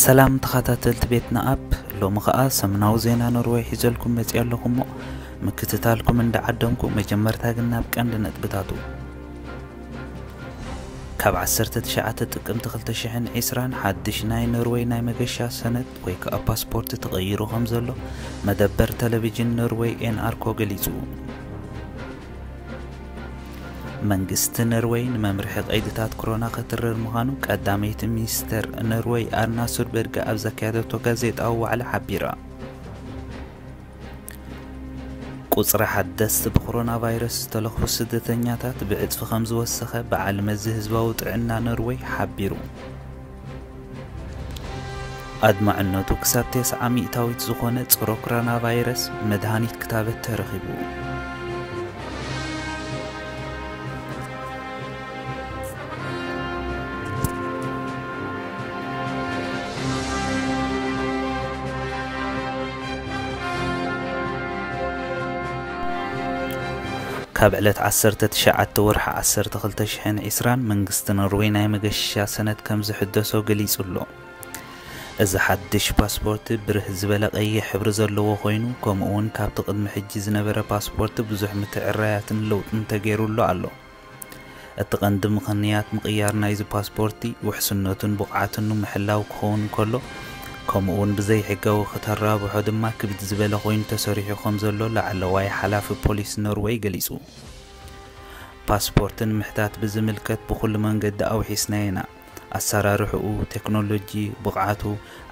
ሰላም ተኸታተልቲ ቤትና ኣፕ፣ ሎሚ ኸኣ ሰሙናዊ ዜና ኖርወይ ሒዘልኩም መጺኣ ኣለኹ እሞ፣ ምክትታልኩም እንዳዓደምኩ፣ መጀመርታ ግን ናብ ቀንዲ ነጥብታቱ። ካብ ዓሰርተ ትሽዓተ ጥቅምቲ ክልተ ሽሕን ዕስራን ሓድሽ ናይ ኖርወይ ናይ መገሻ ሰነድ ወይ ከኣ ፓስፖርት ተቐይሩ ከም ዘሎ መደበር ቴሌቪዥን ኖርወይ ኤን ኣር ኮ ገሊጹ። መንግስቲ ኖርወይ ንመምርሒ ቀይድታት ኮሮና ከትርር ምዃኑ ቀዳመይቲ ሚኒስተር ኖርወይ ኣርና ሱርበርግ ኣብ ዘካየደቶ ጋዜጣዊ ዋዕላ ሓቢራ። ቁጽሪ ሓደስቲ ብኮሮና ቫይረስ ዝተለኽፉ ስደተኛታት ብዕጽፊ ከም ዝወሰኸ በዓል መዚ ህዝባዊ ጥዕና ኖርወይ ሓቢሩ። ኣድማዕነቱ ክሳብ ተስዓ ሚእታዊት ዝኾነ ጸረ ኮሮና ቫይረስ መድሃኒት ክታበት ተረኺቡ። ካብ ዕለት ዓሰርተ ትሽዓተ ወርሒ ዓሰርተ ክልተ ሽሕን ዕስራን መንግስቲ ኖርወይ ናይ መገሻ ሰነድ ከም ዝሕደሶ ገሊጹ ኣሎ። እዚ ሓድሽ ፓስፖርት ብርህ ዝበለ ቀይሕ ሕብሪ ዘለዎ ኮይኑ፣ ከምኡ እውን ካብቲ ቅድሚ ሕጂ ዝነበረ ፓስፖርት ብዙሕ ምትዕራያትን ለውጥን ተገይሩሉ ኣሎ። እቲ ቀንዲ ምኽንያት ምቕያር ናይዚ ፓስፖርቲ ውሕስነቱን ብቕዓቱን ንምሕላው ክኸውን እንከሎ፣ ከምኡ እውን ብዘይሕጋዊ ክተራብሖ ድማ ክብድ ዝበለ ኮይኑ ተሰሪሑ ከም ዘሎ ላዕለዋይ ሓላፊ ፖሊስ ኖርወይ ገሊጹ። ፓስፖርት ንምሕታት ብዝምልከት ብኹሉ መንገዲ ኣውሒስናዮ ኢና። ኣሰራርሕኡ፣ ቴክኖሎጂ፣ ብቕዓቱ፣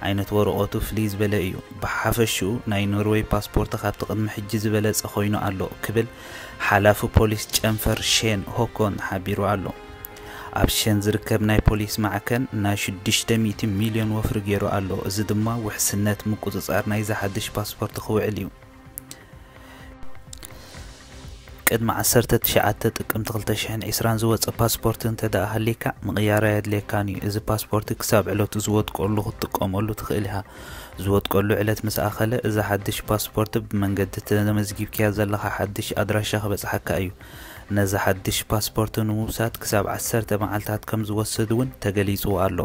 ዓይነት ወረቐቱ ፍልይ ዝበለ እዩ። ብሓፈሽኡ ናይ ኖርወይ ፓስፖርት ካብቲ ቅድሚ ሕጂ ዝበለጸ ኮይኑ ኣሎ ክብል ሓላፊ ፖሊስ ጨንፈር ሼን ሆኮን ሓቢሩ ኣሎ። ኣብ ሼን ዝርከብ ናይ ፖሊስ ማዕከን ናይ ሽዱሽተ ሚእቲ ሚልዮን ወፍሪ ገይሩ ኣሎ። እዚ ድማ ውሕስነት ምቁጽጻር ናይዚ ሓድሽ ፓስፖርት ክውዕል እዩ። ቅድሚ ዓሰርተ ትሽዓተ ጥቅምቲ ክልተ ሽሕን ዕስራን ዝወጸ ፓስፖርት እንተ ደኣ ሃሊካ፣ ምቕያር ኣየድልየካን እዩ። እዚ ፓስፖርት ክሳብ ዕለቱ ዝወድቀሉ ክትጥቀመሉ ትኽእል ኢኻ። ዝወድቀሉ ዕለት ምስ ኣኸለ፣ እዚ ሓድሽ ፓስፖርት ብመንገዲ ተመዝጊብካዮ ዘለኻ ሓድሽ ኣድራሻ ክበጽሓካ እዩ። ነዚ ሓድሽ ፓስፖርት ንምውሳድ ክሳብ ዓሰርተ መዓልታት ከም ዝወስድ እውን ተገሊጹ ኣሎ።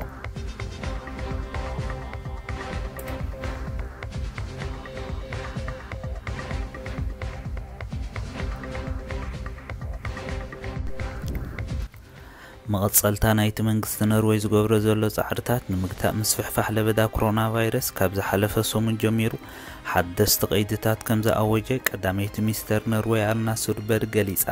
መቐጸልታ ናይቲ መንግስቲ ኖርወይ ዝገብሮ ዘሎ ጻዕርታት ንምግታእ ምስፍሕፋሕ ለበዳ ኮሮና ቫይረስ ካብ ዝሓለፈ ሰሙን ጀሚሩ ሓደስቲ ቀይድታት ከም ዝኣወጀ ቀዳመይቲ ሚኒስተር ኖርወይ ኣርና ሱርበርግ ገሊጻ።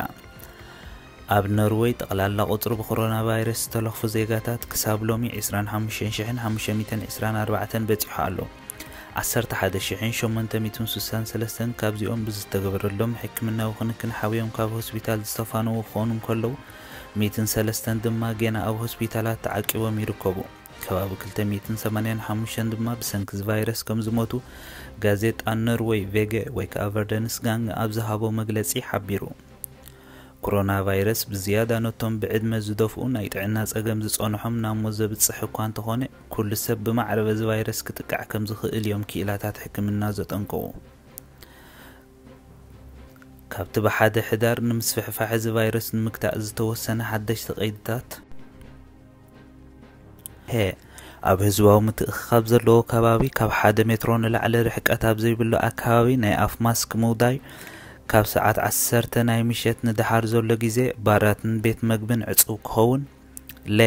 ኣብ ኖርወይ ጠቕላላ ቁጽሪ ብኮሮና ቫይረስ ዝተለኽፉ ዜጋታት ክሳብ ሎሚ ዕስራን ሓሙሽተን ሽሕን ሓሙሽተ ሚእትን ዕስራን ኣርባዕተን በጺሑ ኣሎ። ዓሰርተ ሓደ ሽሕን ሸሞንተ ሚእትን ስሳን ሰለስተን ካብዚኦም ብዝተገበረሎም ሕክምናዊ ክንክን ሓውዮም ካብ ሆስፒታል ዝተፋነዉ ክኾኑ እንከለዉ፣ ሚእትን ሰለስተን ድማ ጌና ኣብ ሆስፒታላት ተዓቂቦም ይርከቡ። ከባቢ ክልተ ሚእትን ሰማንያን ሓሙሽተን ድማ ብሰንኪ እዚ ቫይረስ ከም ዝሞቱ ጋዜጣ ኖርወይ ቬገ ወይ ከኣ ቨርደንስጋንግ ኣብ ዝሃቦ መግለጺ ሓቢሩ። ኮሮና ቫይረስ ብዝያዳ ነቶም ብዕድመ ዝደፍኡ ናይ ጥዕና ጸገም ዝጸንሖም ናብ ሞት ዘብጽሕ እኳ እንተኾነ፣ ኩሉ ሰብ ብማዕረ በዚ ቫይረስ ክጥቃዕ ከም ዝኽእል እዮም ክኢላታት ሕክምና ዘጠንቀቑ። ካብቲ ብሓደ ሕዳር ንምስፍሕፋሕ እዚ ቫይረስ ንምግታእ ዝተወሰነ ሓደሽቲ ቀይድታት፣ ሀ፣ ኣብ ህዝባዊ ምትእኽኻብ ዘለዎ ከባቢ ካብ ሓደ ሜትሮ ንላዕሊ ርሕቀት ኣብ ዘይብሉ ኣከባቢ ናይ ኣፍ ማስክ ምውዳይ፣ ካብ ሰዓት ዓሰርተ ናይ ምሸት ንደሓር ዘሎ ግዜ ባራትን ቤት መግብን ዕጹው ክኸውን፣ ለ፣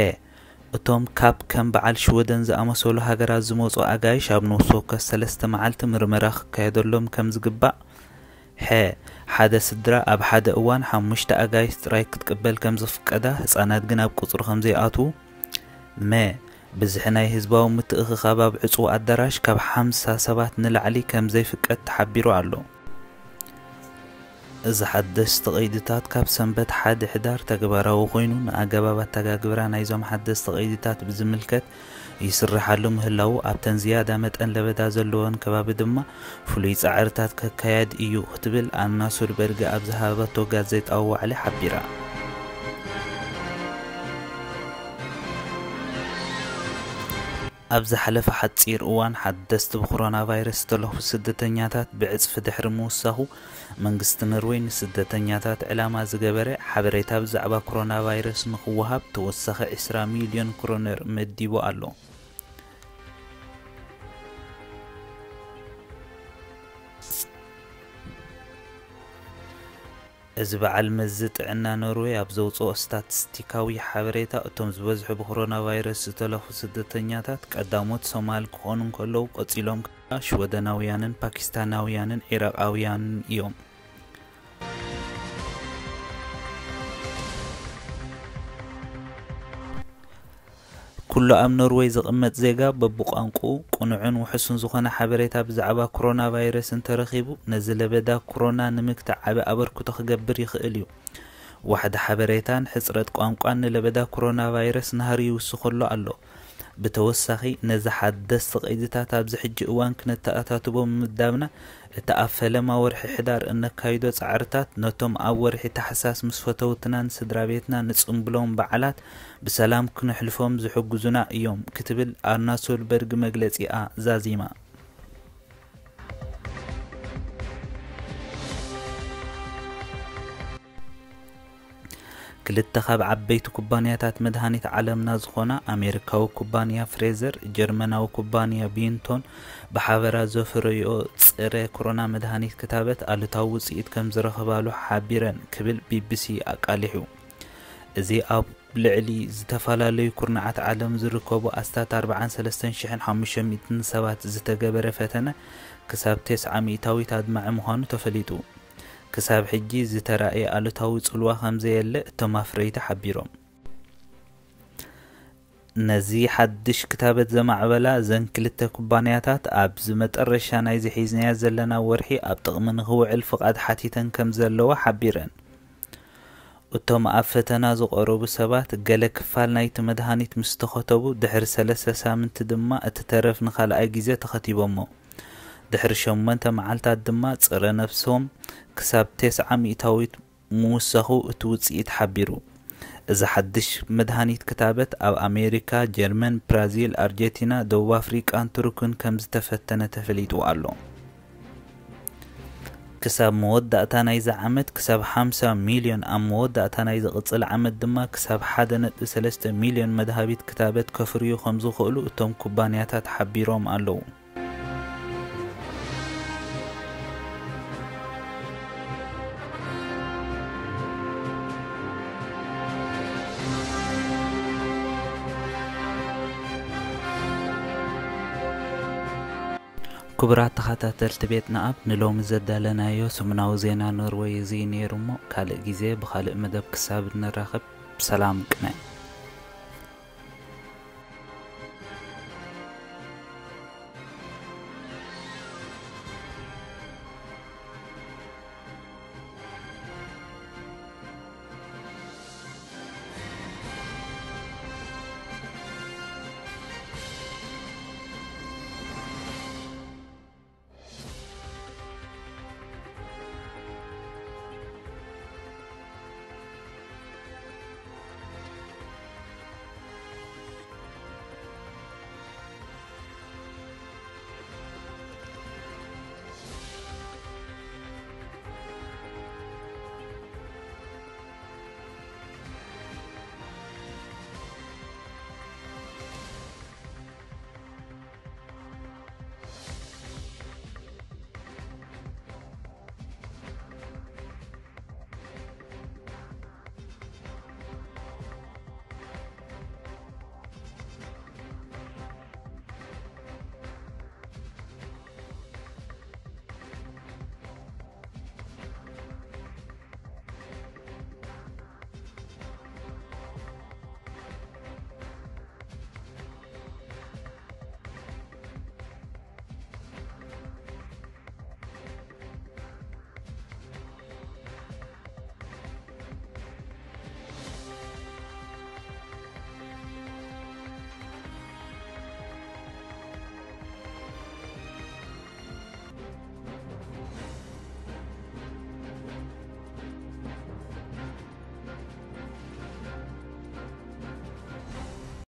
እቶም ካብ ከም በዓል ሽወደን ዝኣመሰሉ ሃገራት ዝመጹ ኣጋይሽ ኣብ ነፍሲ ወከፍ ሰለስተ መዓልቲ ምርመራ ክካየደሎም ከም ዝግባእ፣ ሐ፣ ሓደ ስድራ ኣብ ሓደ እዋን ሓሙሽተ ኣጋይሽ ጥራይ ክትቅበል ከም ዝፍቀዳ፣ ህጻናት ግን ኣብ ቁጽሪ ከም ዘይኣትዉ፣ መ፣ ብዝሒ ናይ ህዝባዊ ምትእኽኻብ ኣብ ዕጹው ኣዳራሽ ካብ ሓምሳ ሰባት ንላዕሊ ከም ዘይፍቀድ ተሓቢሩ ኣሎ። እዚ ሓደስቲ ቀይድታት ካብ ሰንበት ሓደ ሕዳር ተግባራዊ ኮይኑ፣ ንኣገባብ ኣተጋግብራ ናይዞም ሓደስቲ ቀይድታት ብዝምልከት ይስርሓሉ ምህላዉ፣ ኣብተን ዝያዳ መጠን ለበዳ ዘለወን ከባቢ ድማ ፍሉይ ጻዕርታት ከካየድ እዩ ክትብል ኣና ሱርበርግ ኣብ ዝሃበቶ ጋዜጣዊ ዋዕላ ሓቢራ። ኣብ ዝሓለፈ ሓጺር እዋን ሓደስቲ ብኮሮና ቫይረስ ዝተለኽፉ ስደተኛታት ብዕጽፊ ድሕሪ ምውሳኹ፣ መንግስቲ ኖርወይ ንስደተኛታት ዕላማ ዝገበረ ሓበሬታ ብዛዕባ ኮሮና ቫይረስ ንኽወሃብ ተወሳኺ ዕስራ ሚልዮን ክሮነር መዲቡ ኣሎ። እዚ በዓል መዚ ጥዕና ኖርዌይ ኣብ ዘውፅኦ ስታቲስቲካዊ ሓበሬታ፣ እቶም ዝበዝሑ ብኮሮና ቫይረስ ዝተለፉ ስደተኛታት ቀዳሞት ሶማል ክኾኑ እንከለዉ፣ ቀፂሎም ከዓ ሽወደናውያንን ፓኪስታናውያንን ዒራቃውያንን እዮም። ኩሉ ኣብ ኖርወይ ዝቕመጥ ዜጋ በብቋንቁኡ ቅኑዕን ውሑስን ዝኾነ ሓበሬታ ብዛዕባ ኮሮና ቫይረስ እንተረኺቡ፣ ነዚ ለበዳ ኮሮና ንምግታእ ዓቢ ኣበርክቶ ክገብር ይኽእል እዩ። ዋሕዲ ሓበሬታን ሕጽረት ቋንቋን ንለበዳ ኮሮና ቫይረስ ናህሪ ይውስኸሉ ኣሎ። ብተወሳኺ፣ ነዚ ሓደስቲ ቀይድታት ኣብዚ ሕጂ እዋን ክነተኣታትቦ ምምዳብና፣ እቲ ኣብ ፈለማ ወርሒ ሕዳር እነካይዶ ጻዕርታት፣ ነቶም ኣብ ወርሒ ታሕሳስ ምስ ፈተውትናን ስድራ ቤትና ንጽምብሎም በዓላት ብሰላም ክነሕልፎም ዝሕግዙና እዮም፣ ክትብል ኣርና ሶልበርግ መግለጺኣ ዛዚማ። ክልተ ካብ ዓበይቲ ኩባንያታት መድሃኒት ዓለምና ዝኾና ኣሜሪካዊ ኩባንያ ፍሬዘር፣ ጀርመናዊ ኩባንያ ቢንቶን ብሓበራ ዘፍረዮ ጸረ ኮሮና መድሃኒት ክታበት ኣሉታዊ ውጽኢት ከም ዝረኸባሉ ሓቢረን ክብል ቢቢሲ ኣቃሊሑ። እዚ ኣብ ልዕሊ ዝተፈላለዩ ኩርናዓት ዓለም ዝርከቡ ኣስታት ኣርባዓን ሰለስተን ሽሕን ሓሙሽተ ሚእትን ሰባት ዝተገበረ ፈተነ ክሳብ ተስዓ ሚእታዊት ኣድማዒ ምዃኑ ተፈሊጡ። ክሳብ ሕጂ ዝተራእየ ኣሉታዊ ጽልዋ ከም ዘየለ እቶም ኣፍረይቲ ሓቢሮም። ነዚ ሓድሽ ክታበት ዘማዕበላ እዘን ክልተ ኩባንያታት፣ ኣብዚ መጠረሻ ናይዚ ሒዝናዮ ዘለና ወርሒ ኣብ ጥቕሚ ንኽውዕል ፍቓድ ሓቲተን ከም ዘለዋ ሓቢረን። እቶም ኣብ ፈተና ዝቐረቡ ሰባት፣ ገለ ክፋል ናይቲ መድሃኒት ምስ ተኸተቡ፣ ድሕሪ ሰለስተ ሳምንቲ ድማ እቲ ተረፍ ንኻልኣይ ግዜ ተኸቲቦሞ። ድሕሪ ሸሞንተ መዓልታት ድማ ጸረ ነብሶም ክሳብ ተስዓ ሚእታዊት ምውሳኹ እቲ ውጽኢት ሓቢሩ። እዚ ሓድሽ መድሃኒት ክታበት ኣብ ኣሜሪካ፣ ጀርመን፣ ብራዚል፣ ኣርጀንቲና፣ ደቡብ ኣፍሪቃን ቱርክን ከም ዝተፈተነ ተፈሊጡ ኣሎ። ክሳብ መወዳእታ ናይዚ ዓመት ክሳብ ሓምሳ ሚልዮን፣ ኣብ መወዳእታ ናይ ዝቕጽል ዓመት ድማ ክሳብ ሓደ ነጥቢ ሰለስተ ሚልዮን መድሃቢት ክታበት ከፍርዩ ከም ዝኽእሉ እቶም ኩባንያታት ሓቢሮም ኣለዉ። ክቡራት ተኸታተልቲ ቤትና ኣብ ንሎሚ ዘዳለናዮ ሰሙናዊ ዜና ኖርወይ እዚ እዩ ነይሩ እሞ፣ ካልእ ግዜ ብኻልእ መደብ ክሳብ እንራኸብ ብሰላም ቅነ።